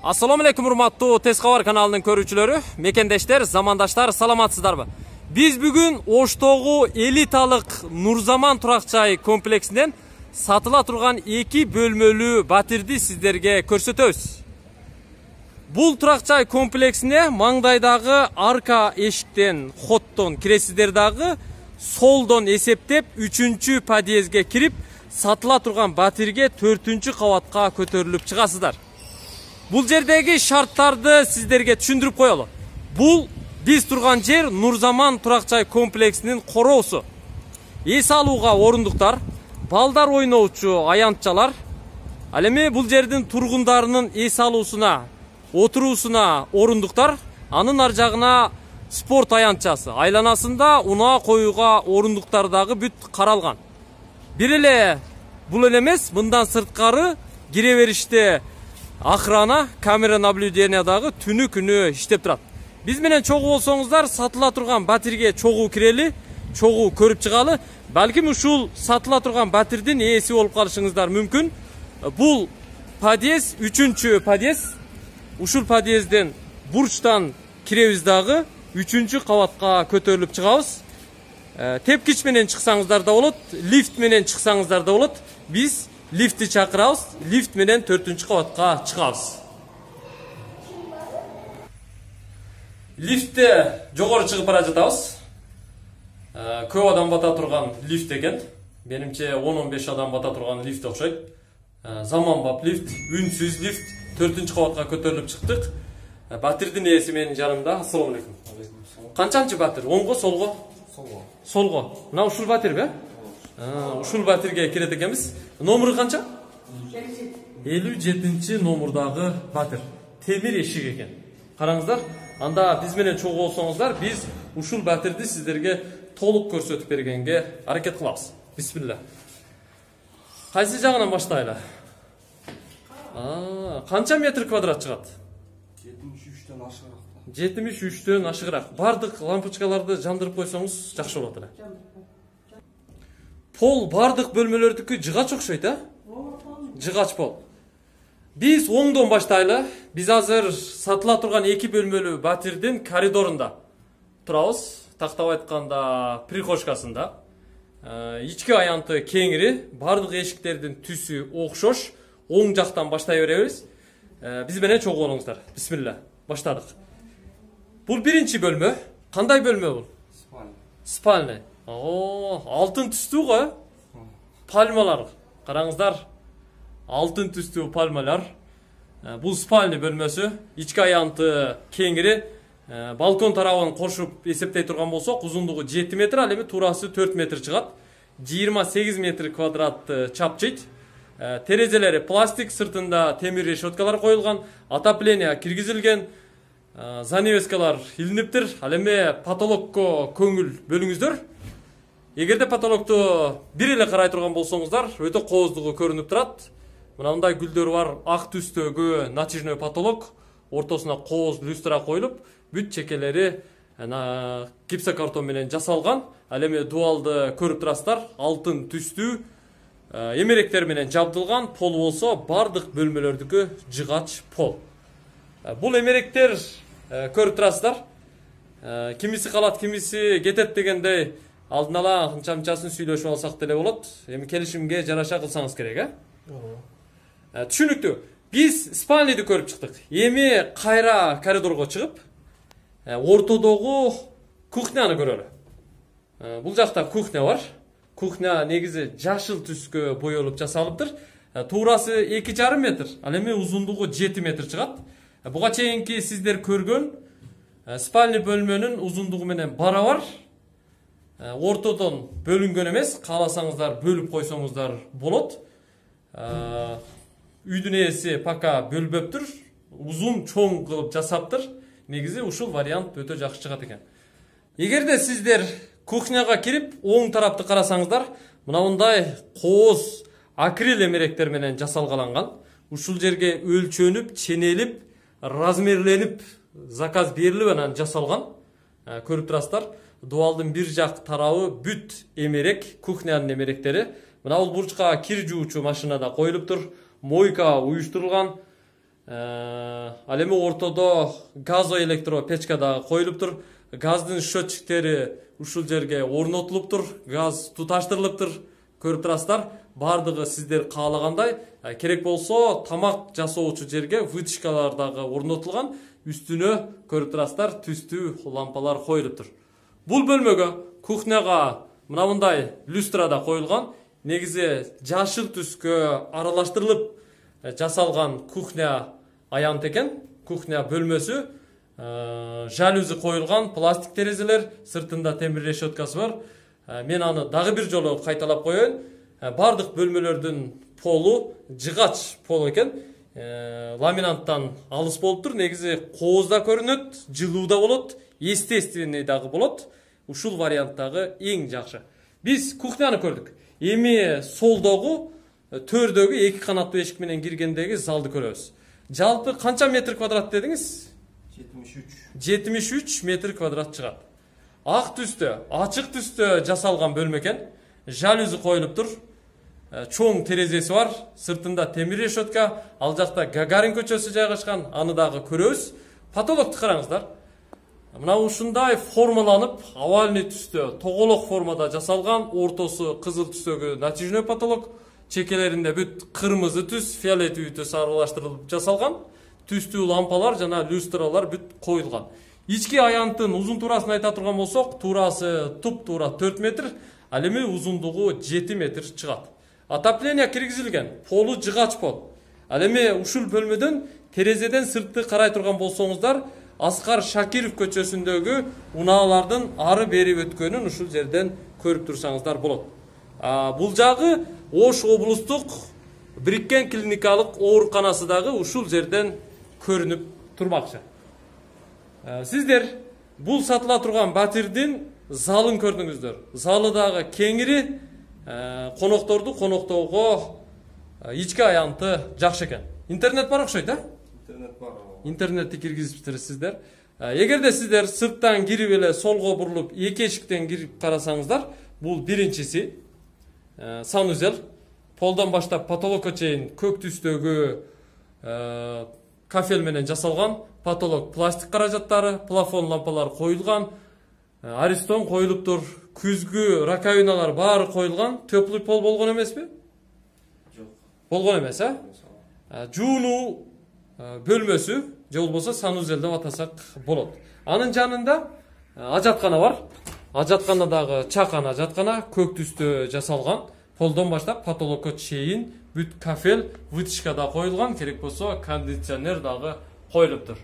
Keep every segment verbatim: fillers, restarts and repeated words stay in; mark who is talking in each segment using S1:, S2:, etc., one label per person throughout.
S1: Assalamu alaikum урматтуу Тез кабар каналынын көрүүчүлөрү, мекендештер, замандаштар, саламатсыздарбы? Биз бүгүн Оштогу элиталык Нурзаман турак жай комплексинен сатыла турган эки бөлмөлүү батирди сиздерге көрсөтөбүз. Бул турак жай комплексине маңдайдагы арка эшиктен, хоттон киресиздер дагы солдон эсептеп үчүнчү подъездге кирип, сатыла турган батирге төртүнчү кабатка көтөрүлүп чыгасыздар. Бул жердеги шарттарды сиздерге түшүндүрүп коелу. Бул биз турган жер Нурзаман турак жай комплексинин короосу. Эс алууга орундуктар, балдар ойноочу аянтчалар. Ал эми бул жердин тургундарынын эс алуусуна, отуруусуна орундуктар, анын ар жагына спорт аянтчасы, айланасында унаа коюуга орундуктар дагы бүт каралган. Бир эле бул эле эмес, мындан сырткары кире бериште охрана, камера наблюдения дагы түнү күнү иштеп турат. Биз менен чогуу болсоңуздар, сатыла турган батирге чогуу кирели, чогуу көрүп чыгалы. Балким ушул сатыла турган батирдин ээси болуп калышыңыздар мүмкүн. Бул подъезд, үчүнчү подъезд. Ушул подъезден бурчтан киребиз дагы, үчүнчү кабатка көтөрүлүп чыгабыз. Тепкич менен чыксаңыздар да болот, лифт менен чыксаңыздар да болот. Биз лифтти чакырабыз, лифт менен төртүнчү кабатка чыгабыз. Лифтте жогору чыгып бара жатабыз. Көп адам бата турган лифт экен. Менимче он он беш адам бата турган лифт окшойт. Заманбап лифт, үнсүз лифт. төртүнчү кабатка көтөрүлүп чыктык. Батирдин ээси менин жанымда. Ассаламу алейкум. Канчанчы батир? Оңго, солго?
S2: Солго.
S1: Солго. Мына ушул батирби? Ушул батирге кирет экенбиз. Номеру канча? элүү жетинчи номурдагы батир. Темир эшик экен. Караңыздар. Анда биз менен чогуу болсоңуздар, биз ушул батирди сиздерге толук көрсөтүп бергенге аракет кылабыз. Бисмилла. Кайсы жагынан баштайлы? А, канча метр квадрат чыгат?
S2: жетимиш үчтөн ашыгыраак.
S1: жетимиш үчтөн ашыгыраак. Бардык лампочкаларды жандырып койсоңуз жакшы болот эле. Пол бардык бөлмөлөрдүкү жыгач окшойт, а? Жыгач пол. Биз оңдон баштайлы. Биз азыр сатыла турган эки бөлмөлүү батирдин коридорунда турабыз. Тактап айтканда, прихожкасында. Ички аянты кеңири, бардык эшиктердин түсү окшош. Оң жактан баштай беребиз. Биз менен чогуу болуңуздар. Бисмилла. Баштадык. Бул биринчи бөлмө. Кандай бөлмө бул?
S2: Спальня.
S1: Спальня. О, алтын түстүү го. Пальмалар. Караңыздар. Алтын түстүү пальмалар. Бул спальня бөлмөсү. Ички аянты кеңири. Балкон тарабын кошуп эсептей турган болсок, узундугу жети метр, ал эми туурасы төрт метр чыгат. жыйырма сегиз метр квадратты чапчыйт. Терезелери пластик, сыртында темир решеткалар коюлган, отопление киргизилген, занавескалар илиниптир. Ал эми потолокко көңүл бөлүңүздөр. Эгерде потолокту бир эле карай турган болсоңуздар, өтө кооздугу көрүнүп турат. Мына мындай гүлдөр бар, ак түстөгү натяжной потолок, ортосуна кооз люстра коюлуп, бүт чекелери гипсокартон менен жасалган. Ал эми дуалды көрүп турасыздар, алтын түстүү эмеректер менен жабдылган. Пол болсо бардык бөлмөлөрдүкү жыгач пол. Бул эмеректер көрүп турасыздар. Кимиси калат, кимиси кетет дегендей алдын ала анча-мынчасын сүйлөшүп алсак деле болот. Эми келишимге жараша кылсаңыз керек, э? Түшүнүктүү. Биз спальняды көрүп чыктык. Эми кайра коридорго чыгып, ортодогу кухняны көрөлү. Бул жакта кухня бар. Кухня негизи жашыл түскө боелуп жасалыптыр. Туурасы эки жарым метр, ал эми узундугу жети метр чыгат. Буга чейинки сиздер көргөн спальня бөлмөнүн узундугу менен барабар. Ортодон бөлүнгөн эмес, кааласаңыздар бөлүп койсоңуздар болот. Үйдүн ээси пока бөлбөптүр, узун чоң кылып жасаптыр. Негизи ушул вариант өтө жакшы чыгат экен. Эгерде сиздер кухняга кирип, оң тарапты карасаңыздар, мына мындай кооз акрил эмеректер менен жасалгаланган. Ушул жерге өлчөнүп, ченелип, размерленип, заказ берилип анан жасалган. Көрүп турасыздар. Дуалдын бир жак тарабы бүт эмерек, кухнянын эмеректери. Мына бул бурчка кир жуучу машина да коюлуптур. Мойка уюштурулган. Ал эми ортодо газоэлектро печка дагы коюлуптур. Газдын счетчиктери ушул жерге орнотулуптур. Газ туташтырылыптыр. Көрүп турасыздар. Бардыгы сиздер каалагандай. Керек болсо тамак жасоочу жерге вытяжкалар дагы орнотулган. Үстүнө көрүп турасыздар түстүү лампалар коюлуптур. Бул бөлмөгө кухняга мына мындай люстра да коюлган. Негизи жашыл түскө аралаштырылып жасалган кухня аянт экен. Кухня бөлмөсү. Жалюзи коюлган, пластик терезелер, сыртында темир решеткасы бар. Мен аны дагы бир жолу кайталап коеюн. Бардык бөлмөлөрдүн полу жыгач пол экен. Ламинанттан алыс болуптур. Негизи кооз да көрүнөт, жылуу да болот, естественный дагы болот. Ушул варианттагы эң жакшы. Биз кухняны көрдүк. Эми солдогу төрдөгү эки канаттуу эшик менен киргендеги залды көрөбүз. Жалпы канча метр квадрат дедиңиз?
S2: жетимиш үч.
S1: жетимиш үч метр квадрат чыгат. Ак түстө, ачык түстө жасалган бөлмө экен. Жалюзи коюлуптур. Чоң терезеси бар, сыртында темир решетка, ал жакта Гагарин көчөсү жайгашкан, аны дагы көрөбүз. Потолокту караңыздар. Мына ушундай формаланып, овальный түстө, тоголок формада жасалган, ортосу кызыл түстөгү натяжной потолок, чекелеринде бүт кырмызы түс, фиолетовый түс аралаштырылып жасалган. Түстүү лампалар жана люстралар бүт коюлган. Ички аянттын узун туурасын айта турган болсок, туурасы туп-туура төрт метр, ал эми узундугу жети метр чыгат. Отопление киргизилген, полу жыгач пол. Ал эми ушул бөлмөдөн терезеден сыртты карай турган болсоңуздар, Аскар Шакиров көчөсүндөгү унаалардын ары бери өткөнүн ушул жерден көрүп турсаңыздар болот. Бул жагы Ош облустук Бириккен клиникалык ооруканасы дагы ушул жерден көрүнүп турмакчы. Сиздер бул сатыла турган батирдин залын көрдүңүздөр. Залы дагы кеңири, конокторду коноктоого ички аянты жакшы экен. Интернет бар окшойт, а?
S2: Интернет бар.
S1: Интернетти киргизиптирсиздер. Эгерде сиздер сырттан кирип эле солго бурулуп эки эшиктен кирип карасаңыздар, бул биринчиси санузел. Полдон баштап потолокко чейин көк түстөгү кафель менен жасалган, потолок пластик каражаттары, плафон лампалар коюлган, аристон коюлуптур, күзгү раковиналар баары коюлган. Теплый пол болгон эмеспи?
S2: Жок.
S1: Болгон эмес, а? Жуунуу бөлмөсү, же болбосо санузел деп атасак болот. Анын жанында ажаткана бар. Ажаткана дагы чакан ажаткана, көк түстө жасалган. Полдон баштап потолокко чейин бүт кафель, вытяжка да коюлган, керек болсо кондиционер дагы коюлуптур.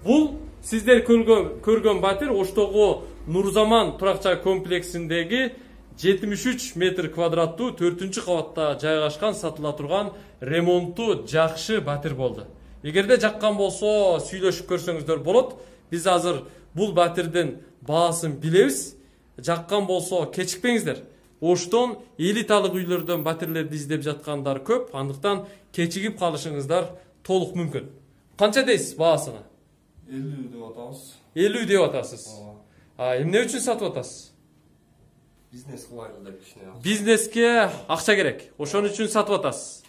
S1: Бул сиздер көргөн көргөн батир Оштогу Нурзаман турак-жай комплексиндеги жетимиш үч метр квадраттуу төртүнчү кабатта жайгашкан сатыла турган ремонтту жакшы батир болду. Эгерде жаккан болсо сүйлөшүп көрсөңүздөр болот. Биз азыр бул батирдин баасын билебиз. Жаккан болсо кечикпеңиздер. Оштон элиталык үйлөрдөн батирлерди издеп жаткандар көп, андыктан кечигип калышыңыздар толук мүмкүн. Канча дейсиз баасына?
S2: элүү деп атабыз.
S1: элүү деп атасыз. А эмне үчүн сатып атасыз?
S2: Бизнес кылайлы деп кичине.
S1: Бизнеске акча керек. Ошон үчүн сатып атасыз.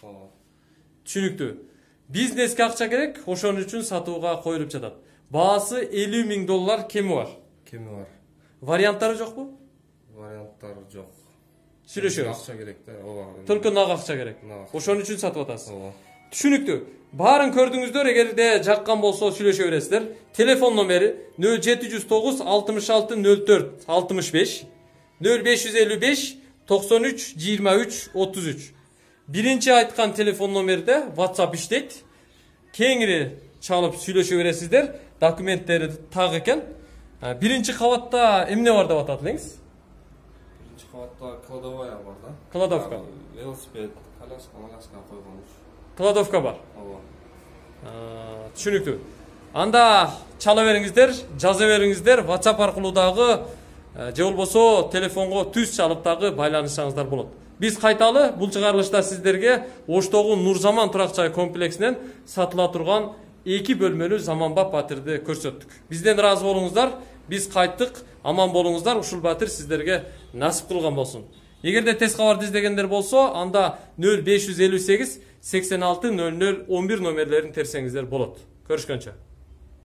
S1: Түшүнүктүү. Бизнеске акча керек, ошон үчүн сатууга коюлуп жатат. Баасы элүү миң доллар кеми бар.
S2: Кеми бар.
S1: Варианттары жокпу?
S2: Варианттары жок.
S1: Сүйлөшөбүз.
S2: Акча керек да, ооба.
S1: Только нак акча керек.
S2: Нак.
S1: Ошон үчүн сатып атасыз.
S2: Ооба.
S1: Түшүнүктүү. Баарын көрдүңүздөр, эгерде жаккан болсо сүйлөшө бересиздер. Телефон номери нөл жети жүз тогуз алтымыш алты нөл төрт алтымыш беш, нөл беш жүз элүү беш токсон үч жыйырма үч отуз үч. Биринчи айткан телефон номерде WhatsApp иштейт. Кеңири чалып сүйлөшө бересиздер. Документтери так экен. Биринчи кабатта эмне бар деп атат элеңиз?
S2: Биринчи кабатта кладовая бар да.
S1: Кладовка.
S2: Велосипед, коляска, коляска койгон.
S1: Кладовка бар.
S2: Ооба.
S1: Түшүнүктүү. Анда чала бериңиздер, жаза бериңиздер, WhatsApp аркылуу дагы же болбосо телефонго түз чалып дагы байланышсаңыздар болот. Биз кайталы бул чыгарылышта сиздерге Оштогу Нурзаман турак-жай комплексинен сатыла турган эки бөлмөлүү заманбап батирди көрсөттүк. Бизден ыраазы болуңуздар, биз кайттык, аман болуңуздар, ушул батир сиздерге насип кылган болсун. Эгерде тез кабарды издегендер болсо, анда нөл беш жүз элүү сегиз сексен алты нөл нөл он бир номерлерин терсеңиздер болот. Көрүшкөнчө.